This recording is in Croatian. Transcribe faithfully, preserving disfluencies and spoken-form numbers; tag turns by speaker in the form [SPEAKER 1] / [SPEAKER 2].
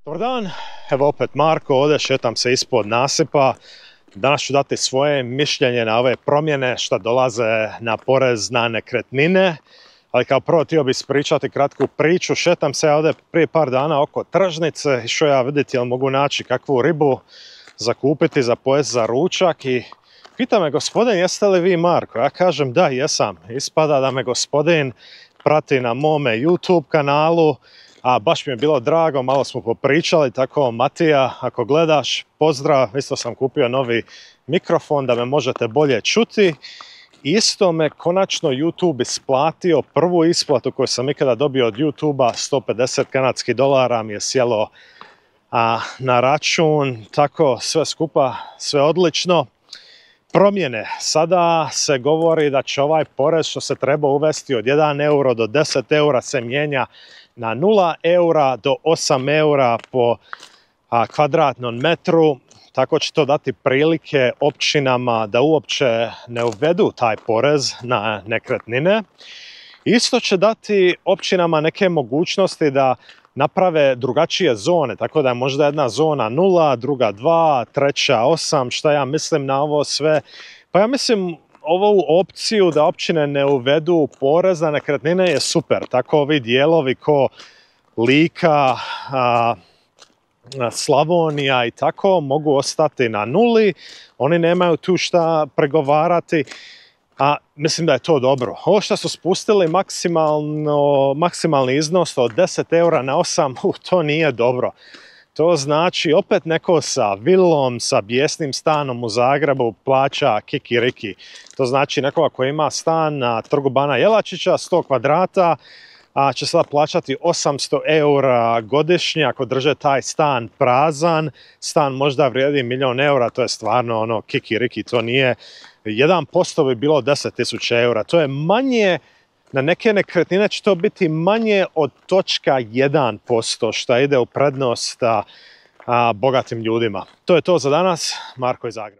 [SPEAKER 1] Dobar dan, evo opet Marko, ovdje šetam se ispod nasipa. Danas ću dati svoje mišljenje na ove promjene što dolaze na porez na nekretnine. Ali kao prvo htio bih ispričati kratku priču. Šetam se ovdje prije par dana oko tržnice, išao ja vidjeti jel mogu naći kakvu ribu zakupiti za pojest za ručak i pita me gospodin jeste li vi Marko? Ja kažem da jesam. Ispada da me gospodin prati na mome YouTube kanalu. A baš mi je bilo drago, malo smo popričali, tako Matija, ako gledaš, pozdrav, isto sam kupio novi mikrofon da me možete bolje čuti. Isto me konačno YouTube isplatio, prvu isplatu koju sam ikada dobio od YouTube-a, sto pedeset kanadskih dolara mi je sjelo a, na račun, tako sve skupa, sve odlično. Promjene. Sada se govori da će ovaj porez što se treba uvesti od jedan euro do deset eura se mijenja na nula eura do osam eura po a, kvadratnom metru. Tako će to dati prilike općinama da uopće ne uvedu taj porez na nekretnine. Isto će dati općinama neke mogućnosti da naprave drugačije zone, tako da je možda jedna zona nula, druga dva, treća osam, šta ja mislim na ovo sve. Pa ja mislim ovu opciju da općine ne uvedu porez na nekretnine je super, tako ovi dijelovi ko Lika, a, Slavonija i tako mogu ostati na nuli, oni nemaju tu šta pregovarati. A mislim da je to dobro. Ovo što su spustili maksimalno, maksimalni iznos od deset eura na osam, uh, to nije dobro. To znači opet neko sa vilom, sa bijesnim stanom u Zagrebu plaća kikiriki. To znači nekoga koji ima stan na Trgu Bana Jelačića, sto kvadrata, a će sada plaćati osamsto eura godišnje ako drže taj stan prazan. Stan možda vrijedi milijon eura, to je stvarno ono kikiriki, to nije. jedan posto bi bilo deset tisuća eura, to je manje, na neke nekretnine će to biti manje od točka jedan posto što ide u prednost a, a, bogatim ljudima. To je to za danas, Marko iz Zagreba.